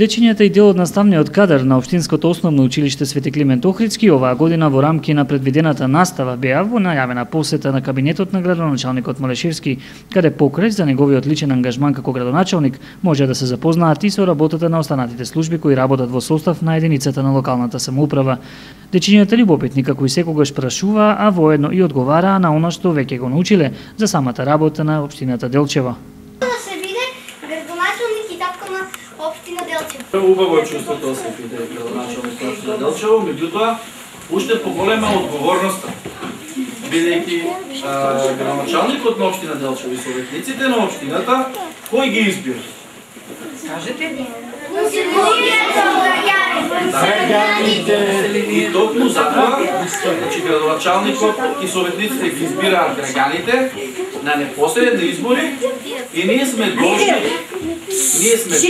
Дечињата и дел од наставниот кадар на Општинското основно училиште Свети Климент Охридски оваа година во рамки на предвидената настава беа во најавена посета на кабинетот на градоначалникот Малешевски, каде покрај за неговиот личен ангажман како градоначалник може да се запознаат и со работата на останатите служби кои работат во состав на единицата на локалната самоуправа. Дечињата љубопитни како и секогаш прашуваа, а воедно и одговараа на она што веќе го научиле за самата работа на општината Делчево. Општина Делчево. Убаво е чувството да се биде градоначалник на општина Делчево, меѓутоа уште поголема одговорноста, бидејќи градоначалникот на општина Делчево и советниците на општината кој ги избира? Кажете? И токму затоа, значи градоначалникот и советниците ги избираат граѓаните на непосредни избори и ние сме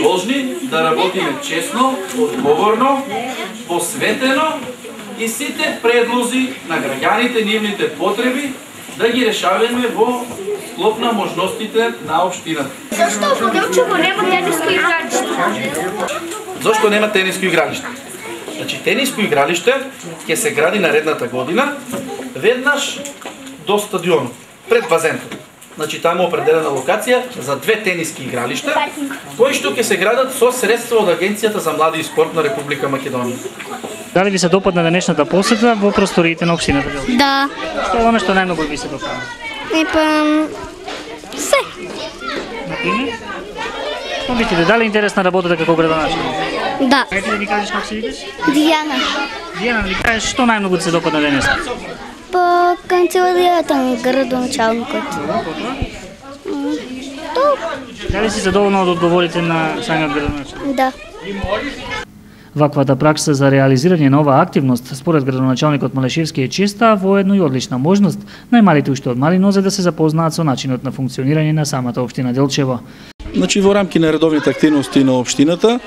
должни да работиме честно, одговорно, посветено и сите предлози на граѓаните, нивните потреби да ги решаваме во склоп на можностите на општината. Зашто во Делчево нема тениско игралиште? Зашто нема тениско игралиште? Значи тениско игралиште ќе се гради наредната година веднаш до стадионот, пред базенот. Значи таму определена локација за 2 тениски игралишта, кои што ќе се градат со средства од Агенцијата за млади и спорт на Република Македонија. Дали ви се допадна денешната посета во просториите на општината Делчево? Да. Што е она што најмногу ви се допадна? Се. Например? Што мислите, дали интересна работата како градоначалник? Да. Ајде да ни кажеш како се викаш? Дијана. Дијана, ви кажеш што најмногу ти се допадна денес? По канцеларијата на градоначалникот. Дали си задоволна од одговорите на самиот градоначалник? Да. Ваквата пракса за реализирање на оваа активност според градоначалникот Малешевски е честа, а воедно и одлична можност најмалите уште од мали нозе да се запознаат со начинот на функционирање на самата општина Делчево. Значи во рамки на редовните активности на општината,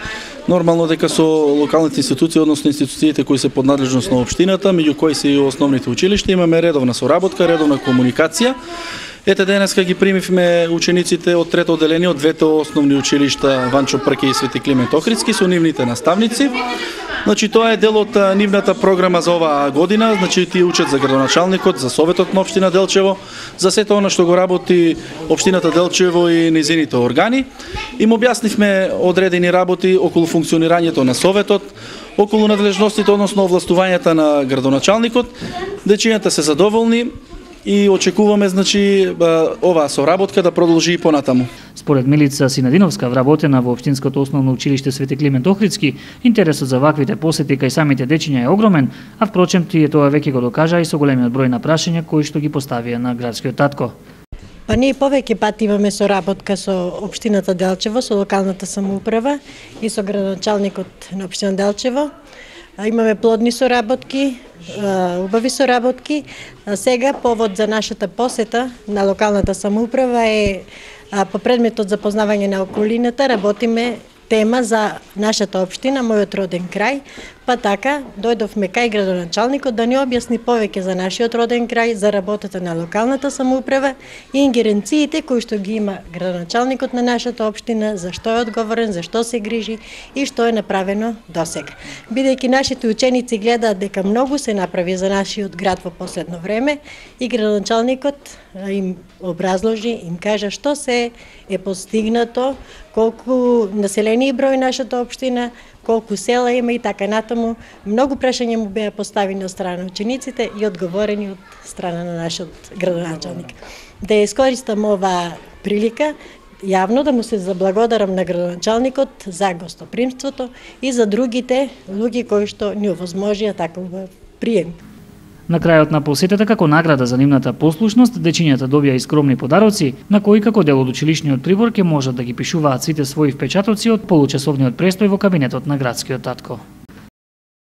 нормално дека со локалните институции, односно институциите кои се под надлежност на општината, меѓу кои се и основните училишта, имаме редовна соработка, редовна комуникација. Ете денеска ги примивме учениците од трето одделение од двете основни училишта Ванчо Прке и Свети Климент Охридски со нивните наставници. Значи тоа е дел од нивната програма за оваа година, значи тие учат за градоначалникот, за советот на општина Делчево, за сето она што го работи општината Делчево и низините органи. Им објаснивме одредени работи околу функционирањето на советот, околу надлежностите, односно овластувањата на градоначалникот. Дечињата се задоволни и очекуваме значи оваа соработка да продолжи и понатаму. Според Милица Синадиновска, вработена во Општинското основно училиште Свети Климент Охридски, интересот за ваквите посети кај самите дечиња е огромен, а впрочем тие тоа веќе го докажа и со големиот број на прашања кои што ги поставија на градскиот татко. Па ние повеќе пати имаме соработка со општината Делчево, со локалната самоуправа и со градоначалникот на општина Делчево. Имаме плодни соработки, убави соработки. Сега повод за нашата посета на локалната самоуправа е по предметот за познавање на околината, работиме тема за нашата општина, мојот роден крај, па така дојдовме кај градоначалникот да ни објасни повеќе за нашиот роден крај, за работата на локалната самоуправа и ингеренциите кои што ги има градоначалникот на нашата општина, за што е одговорен, за што се грижи и што е направено досега. Бидејќи нашите ученици гледаат дека многу се направи за нашиот град во последно време и градоначалникот им образложи, им кажа што се е постигнато, колку население и број нашата општина, колку села има и така натаму. Многу прашања му беа поставени од страна на учениците и одговорени од страна на нашиот градоначалник. Да ја искористам оваа прилика јавно да му се заблагодарам на градоначалникот за гостопримството и за другите луѓе кои што ни овозможија таков прием. На крајот на посетата како награда за нивната послушност, дечињата добија и скромни подароци, на кои како дел од училишниот прибор ќе можат да ги пишуваат сите своји впечатоци од получасовниот престој во кабинетот на градскиот татко.